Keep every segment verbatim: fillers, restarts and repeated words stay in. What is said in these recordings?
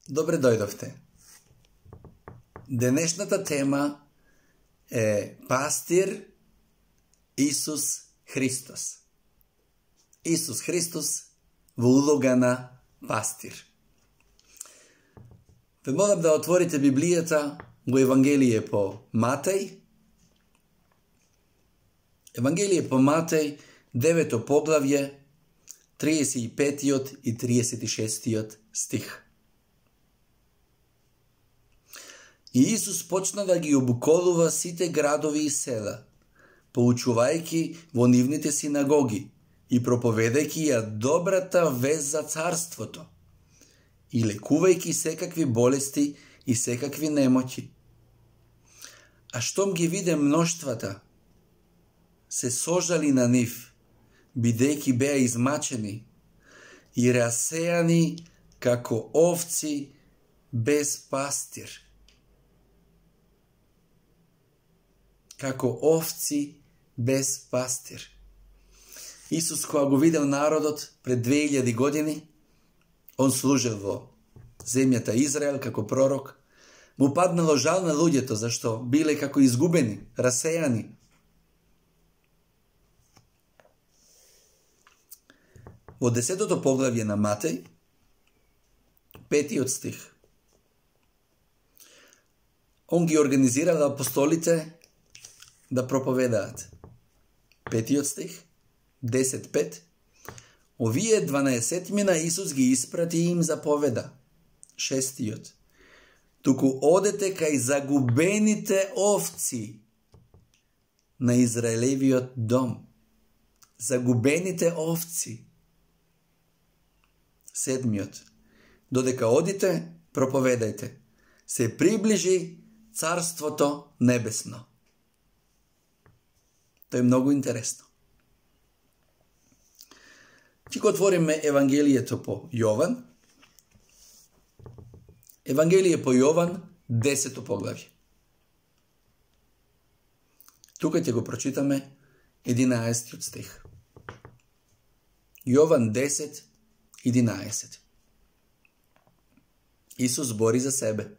Добре дојдовте. Денешната тема е пастир Исус Христос. Исус Христос во улога на пастир. Ве молам да отворите Библијата во Евангелие по Матеј. Евангелие по Матеј, девето поглавје, триесет и петиот и триесет и шестиот стих. И Исус почна да ги обуколува сите градови и села, поучувајќи во нивните синагоги и проповедајќи ја добрата вест за царството и лекувајќи секакви болести и секакви немоќи. А штом ги виде мноштвата, се сожали на нив, бидејќи беа измачени и расејани како овци без пастир. Како овци без пастир. Исус, кога го видел народот пред две илјади години, он служил во земјата Израел како пророк, му паднало жал на луѓето, зашто биле како изгубени, расејани. Во десетото поглавје на Матеј, петиот стих, он ги организирал апостолите да проповедаат. Петиот стих, десет пет, овие дванаесетмина Исус ги испрати и им заповеда. Шестиот, туку одете кај загубените овци на Израелевиот дом. Загубените овци. Седмиот, додека одите, проповедајте. Се приближи Царството небесно. Тоа е многу интересно. Ќе го отвориме Евангелието по Јован. Евангелие по Јован, десето поглавје. Тука ќе го прочитаме единаесеттиот стих. Јован десет, единаесет. Исус збори за себе.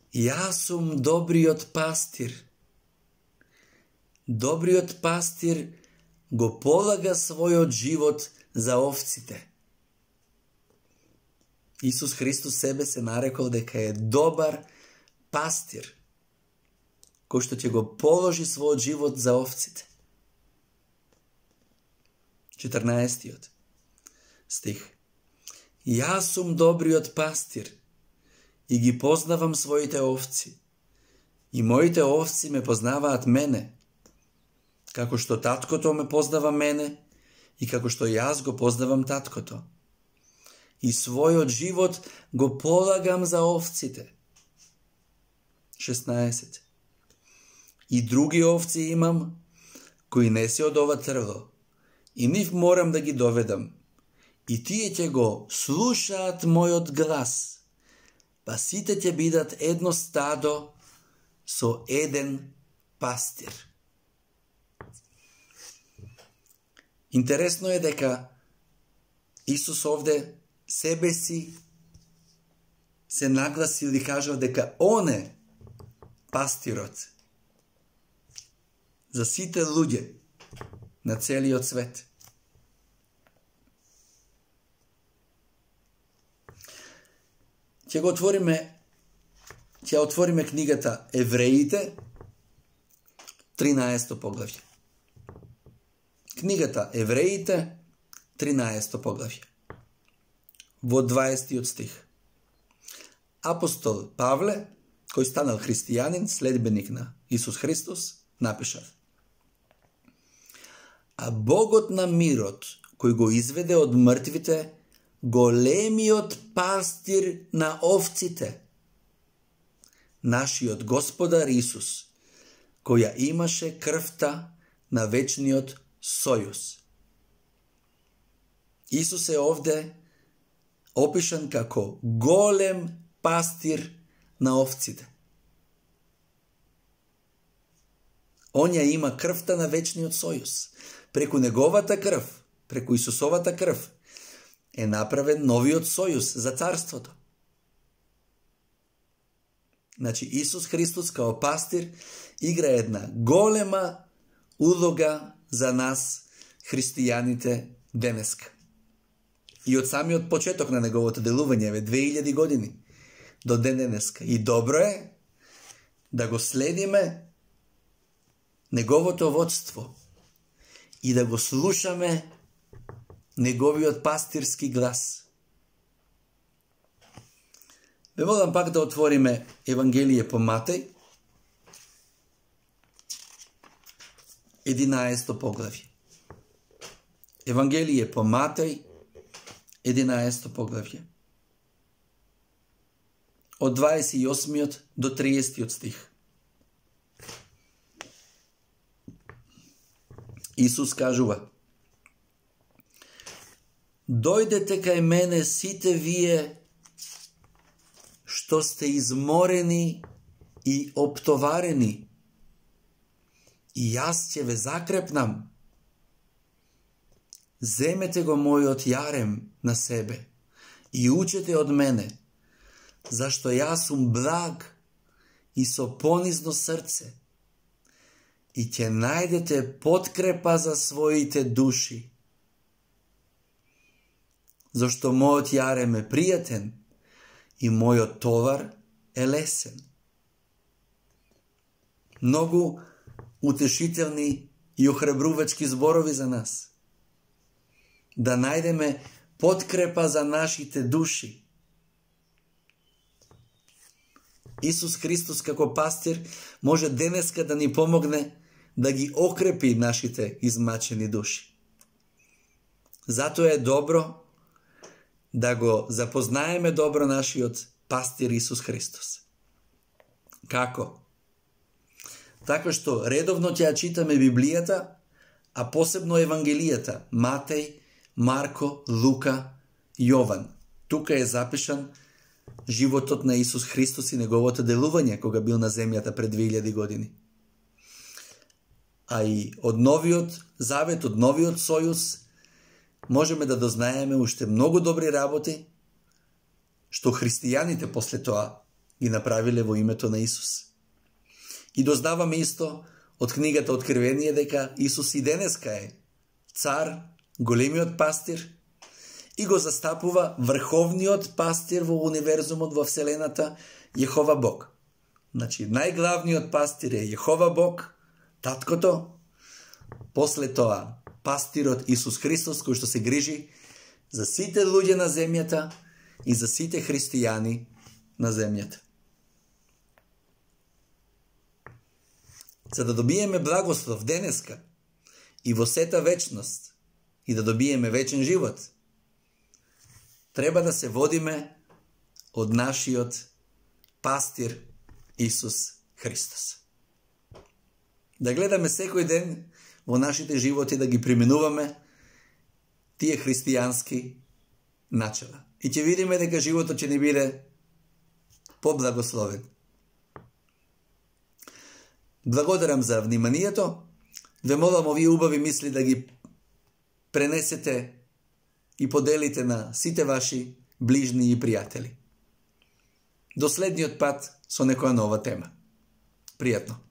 Јас сум добриот пастир. Добриот пастир го полага својот живот за овците. Исус Христос себе се нарекол дека е добар пастир, кој што ќе го положи својот живот за овците. четрнаесеттиот стих. Јас сум добриот пастир и ги познавам своите овци. И моите овци ме познаваат мене, како што таткото ме познава мене и како што јас го познавам таткото. И својот живот го полагам за овците. шеснаесет. И други овци имам, кои не се од ова трвло, и нив морам да ги доведам. И тие ќе го слушаат мојот глас, па сите ќе бидат едно стадо со еден пастир. Интересно е дека Исус овде себе си се нагласил и кажал дека Он е пастирот за сите луѓе на целиот свет. Ќе го отвориме, ќе отвориме книгата Евреите, тринаесето поглавје. Книгата Евреите, тринаесето поглавје. Во дваесеттиот стих. Апостол Павле, кој станал христијанин, следбеник на Исус Христос, напишал: А Богот на мирот, кој го изведе од мртвите, големиот пастир на овците, нашиот Господар Исус, која имаше крвта на вечниот сојуз. Исус е овде опишан како голем пастир на овците. Он ја има крвта на вечниот сојуз. Преку неговата крв, преку Исусовата крв, е направен новиот сојуз за царството. Значи, Исус Христос као пастир игра една голема улога за нас, христијаните, денеска. И од самиот почеток на неговото делување, ве две илјади години, до ден денеска. И добро е да го следиме неговото водство и да го слушаме неговиот пастирски глас. Ве молам пак да отвориме Евангелие по Матеј, единаесто поглавје. Евангелие по Матеј, единаесто поглавје. Од дваесет и осмиот до триесеттиот стих. Исус кажува: дојдете кај мене сите вие што сте изморени и оптоварени, и јас ќе ве закрепнам. Земете го мојот јарем на себе и учете од мене, зашто јас сум благ и со понизно срце, и ќе најдете подкрепа за своите души. Зашто мојот јарем е пријатен и мојот товар е лесен. Многу утешителни и охрабрувачки зборови за нас. Да најдеме подкрепа за нашите души. Исус Христос како пастир може денеска да ни помогне да ги окрепи нашите измачени души. Затоа е добро да го запознаеме добро нашиот пастир Исус Христос. Како? Така што редовно ќе ја читаме Библијата, а посебно Евангелијата, Матеј, Марко, Лука, Јован. Тука е запишан животот на Исус Христос и неговото делување кога бил на земјата пред две илјади години. А и од новиот завет, од новиот сојуз, можеме да дознаеме уште многу добри работи што христијаните после тоа ги направиле во името на Исус. И дознаваме исто од книгата Откривение дека Исус и денеска е цар, големиот пастир, и го застапува врховниот пастир во универзумот, во Вселената, Јехова Бог. Значи, најглавниот пастир е Јехова Бог, таткото, после тоа пастирот Исус Христос, кој што се грижи за сите луѓе на земјата и за сите христијани на земјата. За да добиеме благослов денеска и во сета вечност и да добиеме вечен живот, треба да се водиме од нашиот пастир Исус Христос. Да гледаме секој ден во нашите животи да ги применуваме тие христијански начала. И ќе видиме дека животот ќе ни биде поблагословен. Благодарам за вниманието. Ве молам овие убави мисли да ги пренесете и поделите на сите ваши ближни и пријатели. До следниот пат со некоја нова тема. Пријатно!